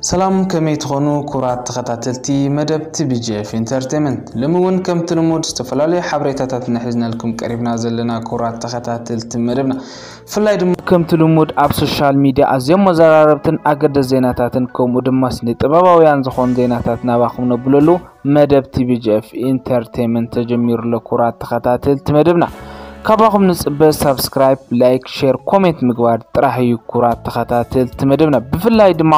ሰላም፣ ከመይ ትኾኑ ክቡራት ተኸታተልቲ መደብ ቲ ቢ ጂ ኤፍ ኢንተርቴይመንት? ሎሚ እውን ከምቲ ልሙድ ዝተፈላለዩ ሓበሬታታት ንሒዝናልኩም ቀሪብና ዘለና። ክቡራት ተኸታተልቲ መደብና፣ ብፍላይ ድማ ከምቲ ልሙድ ኣብ ሶሻል ሚድያ ኣዝዮም መዘራረብትን ኣገደስ ዜናታትን ከምኡ ድማ ስነ ጥበባውያን ዝኾኑ ዜናታት ናባኹም ነብለሉ መደብ ቲ ቢ ጂ ኤፍ ኢንተርቴይመንት ተጀሚሩ ኣሎ። ክቡራት ተኸታተልቲ መደብና፣ ካባኹም ንጽበ ሳብስክራይብ፣ ላይክ፣ ሼር፣ ኮሜንት ምግባር ጥራሕ እዩ። ክቡራት ተኸታተልቲ መደብና፣ ብፍላይ ድማ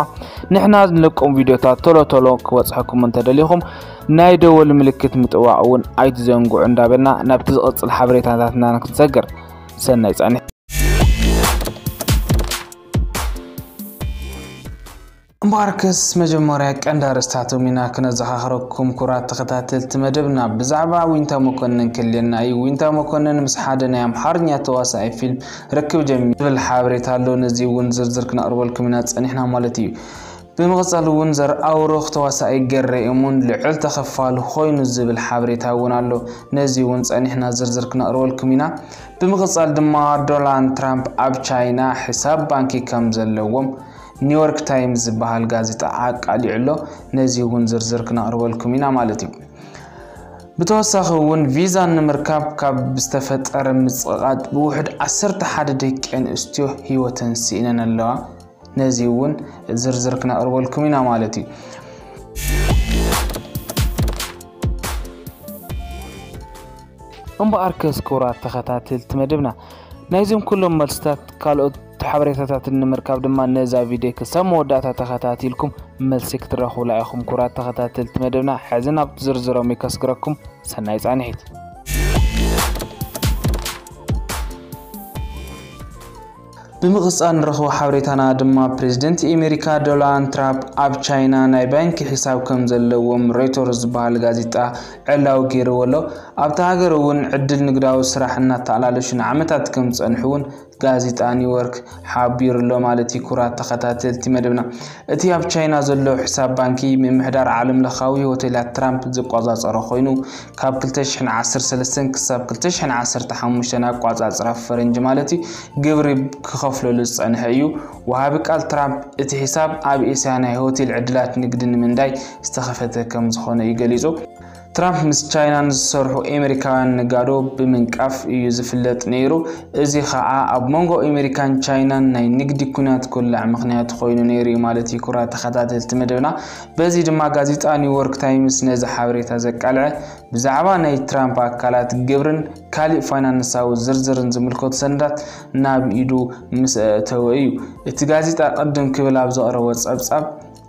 ንሕና ንለቆም ቪድዮታት ቶሎ ቶሎ ክበጽሐኩም እንተደሊኹም ናይ ደወል ምልክት ምጥዋቕ እውን ኣይትዘንግዑ እንዳበልና ናብቲ ዝቕጽል ሓበሬታታትና ክንሰግር። ሰናይ ጻንሒት። እምበኣርከስ መጀመርያ ቀንዲ ኣርእስታቶም ኢና ክነዘኻኽረኩም። ክቡራት ተኸታተልቲ መደብና፣ ብዛዕባ ዊንታ መኮንን ክልየና እዩ። ዊንታ መኮንን ምስ ሓደ ናይ ኣምሓርኛ ተዋሳኣይ ፊልም ርክብ ጀሚሩ ዝብል ሓበሬታ ኣሎ። ነዚ እውን ዝርዝር ክነቕርበልኩም ኢና ጸኒሕና ማለት እዩ። ብምቕጻል እውን ዘርኣብሩኽ ተዋሳኣይ ገሬ እሙን ልዑል ተኸፋሊ ኮይኑ ዝብል ሓበሬታ እውን ኣሎ። ነዚ እውን ጸኒሕና ዝርዝር ክነቕርበልኩም ኢና። ብምቕጻል ድማ ዶናልድ ትራምፕ ኣብ ቻይና ሕሳብ ባንኪ ከም ዘለዎም ኒውዮርክ ታይምስ ዝበሃል ጋዜጣ ኣቃሊዑ ኣሎ። ነዚ እውን ዝርዝር ክነቕርበልኩም ኢና ማለት እዩ። ብተወሳኺ እውን ቪዛ ንምርካብ ካብ ዝተፈጠረ ምጽቕቓጥ ብውሕድ ዓሰርተ ሓደ ደቂ ኣንስትዮ ህይወተን ስኢነን ኣለዋ። ነዚ እውን ዝርዝር ክነቕርበልኩም ኢና ማለት እዩ። እምበኣርከስ ክቡራት ተኸታተልቲ መደብና፣ ናይዞም ኩሎም መልስታት ካልኦት ሓበሬታታትን ንምርካብ ድማ ነዛ ቪድዮ ክሳብ መወዳእታ ተኸታቲልኩም መልሲ ክትረኽቡላ ኢኹም። ክቡራት ተኸታተልቲ መደብና፣ ሕዚ ናብ ዝርዝሮም ይከስግረኩም። ሰናይ ጻንሒት። ብምቕጻል ንረኽቦ ሓበሬታና ድማ፣ ፕሬዝደንት ኣሜሪካ ዶናልድ ትራምፕ ኣብ ቻይና ናይ ባንኪ ሒሳብ ከም ዘለዎም ሮይተርስ ዝበሃል ጋዜጣ ዕላዊ ገይርዎ ኣሎ። ኣብታ ሃገር እውን ዕድል ንግዳዊ ስራሕ እናተኣላለሹ ንዓመታት ከም ዝጸንሑ እውን ጋዜጣ ኒውዮርክ ሓቢሩ ኣሎ ማለት እዩ። ክቡራት ተኸታተልቲ መደብና፣ እቲ ኣብ ቻይና ዘሎ ሕሳብ ባንኪ ምምሕዳር ዓለም ለኻዊ ሆቴላት ትራምፕ ዝቆጻጸሮ ኮይኑ፣ ካብ ክልተ ሽሕን ዓሰርተ ሰለስተን ክሳብ ክልተ ሽሕን ዓሰርተ ሓሙሽተን ኣቋጻጽራ ፈረንጂ ማለት እዩ፣ ግብሪ ክኸፍለሉ ዝጸንሐ እዩ። ወሃቢ ቃል ትራምፕ፣ እቲ ሕሳብ ኣብ ኤስያ ናይ ሆቴል ዕድላት ንግዲ ንምንዳይ ዝተኸፈተ ከም ዝኾነ እዩ ገሊጹ። ትራምፕ ምስ ቻይና ንዝሰርሑ ኣሜሪካውያን ነጋዶ ብምንቃፍ እዩ ዝፍለጥ ነይሩ። እዚ ኸኣ ኣብ መንጎ ኣሜሪካን ቻይናን ናይ ንግዲ ኲናት ክውላዕ ምኽንያት ኮይኑ ነይሩ እዩ ማለት እዩ። ክቡራት ተኸታተልቲ መደብና፣ በዚ ድማ ጋዜጣ ኒውዮርክ ታይምስ ነዚ ሓበሬታ ዘቃልዐ፣ ብዛዕባ ናይ ትራምፕ ኣካላት ግብርን ካልእ ፋይናንሳዊ ዝርዝርን ዝምልከቱ ሰነዳት ናብ ኢዱ ምስ ኣእተወ እዩ። እቲ ጋዜጣ ቅድም ክብል ኣብ ዘቕረቦ ጸብጻብ፣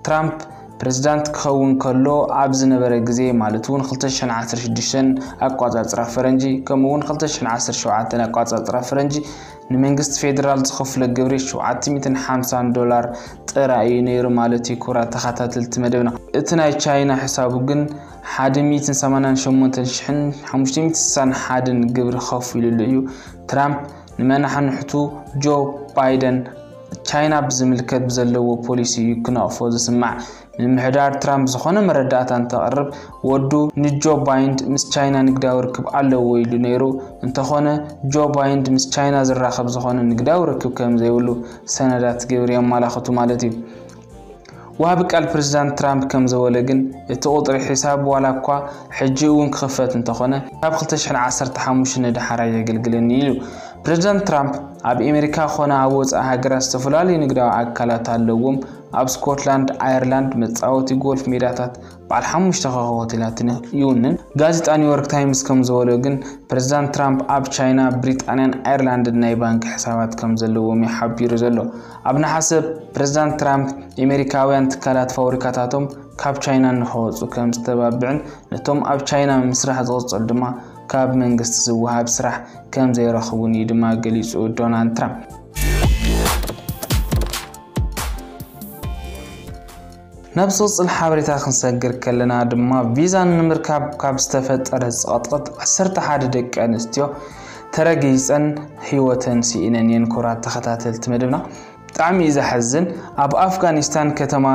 ትራምፕ ፕሬዝዳንት ክኸውን ከሎ ኣብ ዝነበረ ግዜ፣ ማለት እውን ክልተ ሽሕን ዓሰርተ ሽዱሽተን ኣቋጻጽራ ፈረንጂ፣ ከምኡ እውን ክልተ ሽሕን ዓሰርተ ሸውዓተን ኣቋጻጽራ ፈረንጂ፣ ንመንግስቲ ፌደራል ዝኸፍሎ ግብሪ ሸውዓተ ሚእትን ሓምሳን ዶላር ጥራይ እዩ ነይሩ ማለት እዩ። ክቡራት ተኸታተልቲ መደብና፣ እቲ ናይ ቻይና ሕሳቡ ግን ሓደ ሚእትን ሰማንያን ሸሞንተን ሽሕን ሓሙሽተ ሚእትን ስሳን ሓደን ግብሪ ከፊሉሉ እዩ። ትራምፕ ንመናሕንሕቱ ጆ ባይደን ቻይና ብዝምልከት ብዘለዎ ፖሊሲ እዩ ክነቕፎ ዝስማዕ። ምምሕዳር ትራምፕ ዝኾነ መረዳእታ እንተቕርብ፣ ወዱ ንጆ ባይንድ ምስ ቻይና ንግዳዊ ርክብ ኣለዎ ኢሉ ነይሩ። እንተኾነ፣ ጆ ባይንድ ምስ ቻይና ዝራኸብ ዝኾነ ንግዳዊ ርክብ ከም ዘይብሉ ሰነዳት ግብሪ የመላኽቱ ማለት እዩ። ወሃቢ ቃል ፕሬዝዳንት ትራምፕ ከም ዘበሎ ግን፣ እቲ ቁጽሪ ሒሳብ ዋላ እኳ ሕጂ እውን ክኽፈት እንተኾነ፣ ካብ ክልተ ሽሕን ዓሰርተ ሓሙሽተን ንደሓር ኣየገልግልን ኢሉ። ፕሬዝዳንት ትራምፕ ኣብ ኣሜሪካ ኮነ ኣብ ወጻኢ ሃገራት ዝተፈላለዩ ንግዳዊ ኣካላት ኣለዎም። ኣብ ስኮትላንድ፣ ኣየርላንድ፣ መጻወቲ ጎልፍ ሜዳታት፣ በዓል ሓሙሽተ ኮኸብ ሆቴላትን ይውንን። ጋዜጣ ኒውዮርክ ታይምስ ከም ዝበሎ ግን፣ ፕሬዝዳንት ትራምፕ ኣብ ቻይና፣ ብሪጣንያን ኣየርላንድን ናይ ባንክ ሕሳባት ከም ዘለዎም እዩ ሓቢሩ ዘሎ። ኣብ ነሓሰ፣ ፕሬዝዳንት ትራምፕ ኣሜሪካውያን ትካላት ፋብሪካታቶም ካብ ቻይና ንኸወጹ ከም ዝተባብዕን ነቶም ኣብ ቻይና ምስራሕ ዝቕጽሉ ድማ ካብ መንግስቲ ዝወሃብ ስራሕ ከም ዘይረኽቡን እዩ ድማ ገሊጹ ዶናልድ ትራምፕ። ናብ ዝቕጽል ሓበሬታ ክንሰግር ከለና ድማ፣ ቪዛ ንምርካብ ካብ ዝተፈጠረ ጸቕጥቕጥ ዓሰርተ ሓደ ደቂ ኣንስትዮ ተረጊጸን ህይወተን ስኢነን እየን። ክቡራት ተኸታተልቲ መደብና፣ ብጣዕሚ እዩ ዘሐዝን። ኣብ ኣፍጋኒስታን ከተማ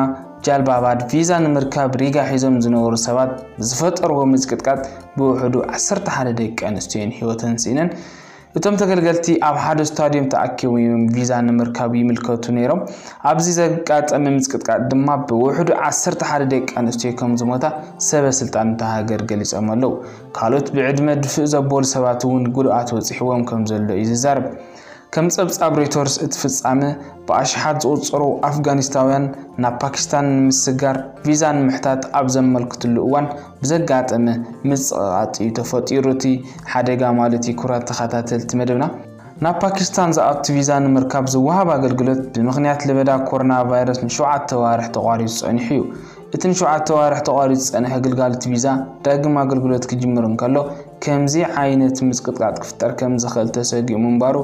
ጃልባባድ ቪዛ ንምርካብ ሪጋ ሒዞም ዝነበሩ ሰባት ብዝፈጠርዎ ምጽቅጥቃጥ ብውሕዱ ዓሰርተ ሓደ ደቂ ኣንስትዮ እየን ህይወተን ስኢነን። እቶም ተገልገልቲ ኣብ ሓደ ስታድዮም ተኣኪቦም እዮም ቪዛ ንምርካብ ይምልከቱ ነይሮም። ኣብዚ ዘጋጠመ ምጽቅጥቃጥ ድማ ብውሕዱ ዓሰርተ ሓደ ደቂ ኣንስትዮ ከም ዝሞታ ሰበ ስልጣን እታ ሃገር ገሊጾም ኣለዉ። ካልኦት ብዕድመ ድፍእ ዘበሉ ሰባት እውን ጉድኣት በጺሕዎም ከም ዘሎ እዩ ዝዛረብ። ከም ጸብጻብ ሮይተርስ፣ እቲ ፍጻመ ብኣሽሓት ዝቑጸሩ ኣፍጋኒስታውያን ናብ ፓኪስታን ንምስጋር ቪዛ ንምሕታት ኣብ ዘመልክትሉ እዋን ብዘጋጠመ ምጽቕቓጥ እዩ ተፈጢሩ እቲ ሓደጋ ማለት እዩ። ክቡራት ተኸታተልቲ መደብና፣ ናብ ፓኪስታን ዝኣቱ ቪዛ ንምርካብ ዝወሃብ ኣገልግሎት ብምኽንያት ለበዳ ኮሮና ቫይረስ ንሸውዓተ ዋርሕ ተቋሪጹ ጸኒሑ እዩ። እቲ ንሸውዓተ ዋርሕ ተቋሪጹ ዝጸንሐ ግልጋሎት ቪዛ ዳግም ኣገልግሎት ክጅምር እንከሎ፣ ከምዚ ዓይነት ምጽቅጥቃጥ ክፍጠር ከም ዝኽእል ተሰጊኡ ምንባሩ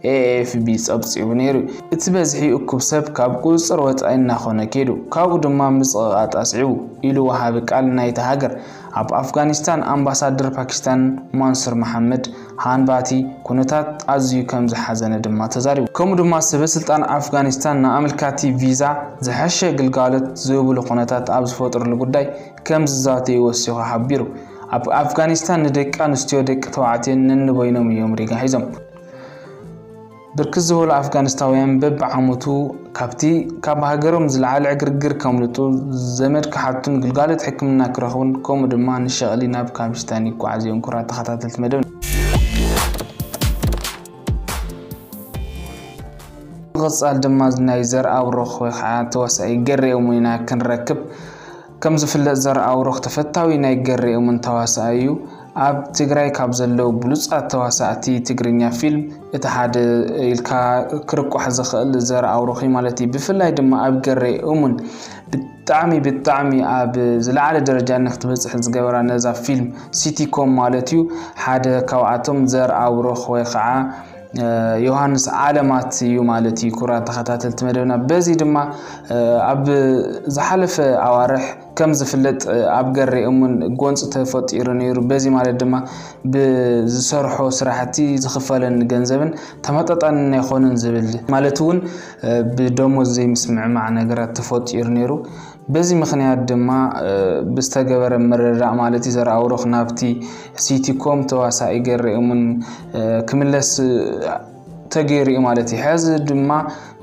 ኤ ኤፍ ቢ ጸብጺቡ ነይሩ። እቲ በዝሒ እኩብ ሰብ ካብ ቁጽጽር ወጻኢ እናኾነ ከይዱ፣ ካብኡ ድማ ምጽቕቓጥ ኣስዒቡ፣ ኢሉ ወሃቢ ቃል ናይታ ሃገር፣ ኣብ ኣፍጋኒስታን ኣምባሳደር ፓኪስታን ማንሱር መሓመድ ሃንባቲ፣ ኩነታት ኣዝዩ ከም ዝሓዘነ ድማ ተዛሪቡ። ከምኡ ድማ ሰበ ስልጣን ኣፍጋኒስታን ንኣመልካቲ ቪዛ ዝሐሸ ግልጋሎት ዝህብሉ ኩነታት ኣብ ዝፈጥርሉ ጉዳይ ከም ዝዛተዩ ወሲኹ ሓቢሩ። ኣብ ኣፍጋኒስታን ንደቂ ኣንስትዮ ደቂ ተባዕትዮን ነንበይኖም እዮም ሪጋ ሒዞም። ብርክት ዝበሉ ኣፍጋኒስታውያን በብዓመቱ ካብቲ ካብ ሃገሮም ዝለዓለ ዕግርግር ከምልጡ፣ ዘመድ ክሓቱን ግልጋሎት ሕክምና ክረኽቡን ከምኡ ድማ ንሸቕሊ ናብ ፓኪስታን ይጓዓዙ እዮም። ክቡራት ተኸታተልቲ መደብ፣ ንቐጻል ድማ ናይ ዘርኣብሩኽ ወይ ከዓ ተዋሳኢ ገሬ እሙን ኢና ክንረክብ። ከም ዝፍለጥ ዘርኣብሩኽ ተፈታዊ ናይ ገሬ እሙን ተዋሳኢ እዩ። ኣብ ትግራይ ካብ ዘለዉ ብሉጻት ተዋሳእቲ ትግርኛ ፊልም እቲ ሓደ ኢልካ ክርቋሕ ዝኽእል ዘርኣብሩኽ እዩ ማለት እዩ። ብፍላይ ድማ ኣብ ገሬ እሙን ብጣዕሚ ብጣዕሚ ኣብ ዝለዓለ ደረጃ ንክትበጽሕ ዝገበራ ነዛ ፊልም ሲቲኮም ማለት እዩ። ሓደ ካብኣቶም ዘርኣብሩኽ ወይ ከዓ ዮሃንስ ዓለማት እዩ ማለት እዩ። ክቡራት ተኸታተልቲ መደብና፣ በዚ ድማ ኣብ ዝሓለፈ ኣዋርሕ ከም ዝፍለጥ ኣብ ገሬ እሙን ጎንፂ ተፈጢሩ ነይሩ። በዚ ማለት ድማ ብዝሰርሖ ስራሕቲ ዝኽፈለኒ ገንዘብን ተመጣጣኒ ኣይኮነን ዝብል ማለት እውን ብደሞዝ ዘይምስምዕማዕ ነገራት ተፈጢሩ ነይሩ። በዚ ምኽንያት ድማ ብዝተገበረ ምርድዳእ ማለት እዩ ዘርኣብሩኽ ናብቲ ሲቲኮም ተዋሳኢ ገሬ እሙን ክምለስ ተገይሩ እዩ ማለት እዩ። ሕዚ ድማ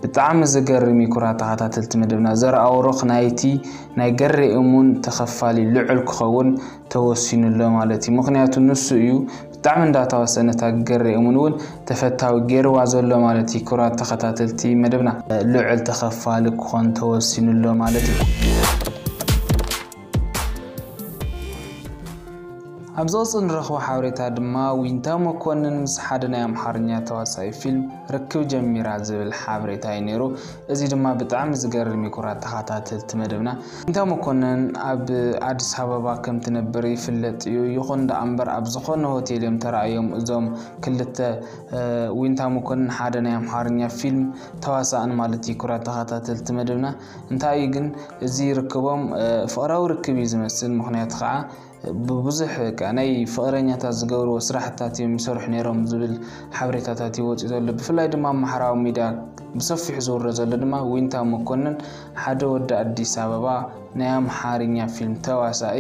ብጣዕሚ ዝገርም እዩ። ክቡራት ተኸታተልቲ መደብና፣ ዘርኣብሩኽ ናይቲ ናይ ገሬ እሙን ተኸፋሊ ልዑል ክኸውን ተወሲኑ ኣሎ ማለት እዩ። ምኽንያቱ ንሱ እዩ ብጣዕሚ እንዳተዋሰነ ነታ ገሬ እሙን እውን ተፈታዊ ገይርዋ ዘሎ ማለት እዩ። ክቡራት ተኸታተልቲ መደብና፣ ልዑል ተኸፋሊ ክኾን ተወሲኑ ኣሎ ማለት እዩ። ኣብ ዝቕጽል ንረኽቦ ሓበሬታ ድማ ዊንታ መኮንን ምስ ሓደ ናይ ኣምሓርኛ ተዋሳኢ ፊልም ርክብ ጀሚራ ዝብል ሓበሬታ እዩ ነይሩ። እዚ ድማ ብጣዕሚ ዝገርም እዩ። ክቡራት ተኸታተልቲ መደብና፣ ዊንታ መኮንን ኣብ ኣዲስ ኣበባ ከም ትነብር ይፍለጥ እዩ። ይኹን ደኣ እምበር ኣብ ዝኾነ ሆቴል እዮም ተራእዮም እዞም ክልተ፣ ዊንታ መኮንን ሓደ ናይ ኣምሓርኛ ፊልም ተዋሳእን ማለት እዩ። ክቡራት ተኸታተልቲ መደብና፣ እንታይ እዩ ግን እዚ ርክቦም ፍቕራዊ ርክብ እዩ ዝመስል። ምኽንያቱ ከዓ ብብዙሕ በቃ ናይ ፍቕረኛታት ዝገብርዎ ስራሕታት እዮም ይሰርሑ ነይሮም ዝብል ሓበሬታታት እዩ ወፂኡ ዘሎ። ብፍላይ ድማ ኣብ ማሕበራዊ ሚድያ ብሰፊሑ ዝውረ ዘሎ ድማ ዊንታ መኮንን ሓደ ወዲ ኣዲስ ኣበባ ናይ ኣምሓርኛ ፊልም ተዋሳኢ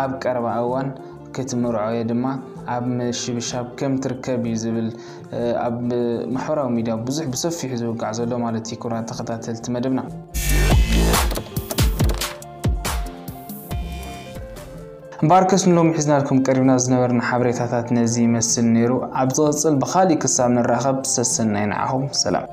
ኣብ ቀረባ እዋን ክትምርዖ እየ ድማ ኣብ ምሽብሻብ ከም ትርከብ እዩ ዝብል ኣብ ማሕበራዊ ሚድያ ብዙሕ ብሰፊሑ ዝውጋዕ ዘሎ ማለት እዩ። ክቡራት ተኸታተልቲ መደብና፣ እምበኣርከስ ንሎሚ ሒዝናልኩም ቀሪብና ዝነበርና ሓበሬታታት ነዚ ይመስል ነይሩ። ኣብ ዝቕጽል ብኻሊእ ክሳብ ንራኸብ ሰሰናይ ንዓኹም፣ ሰላም።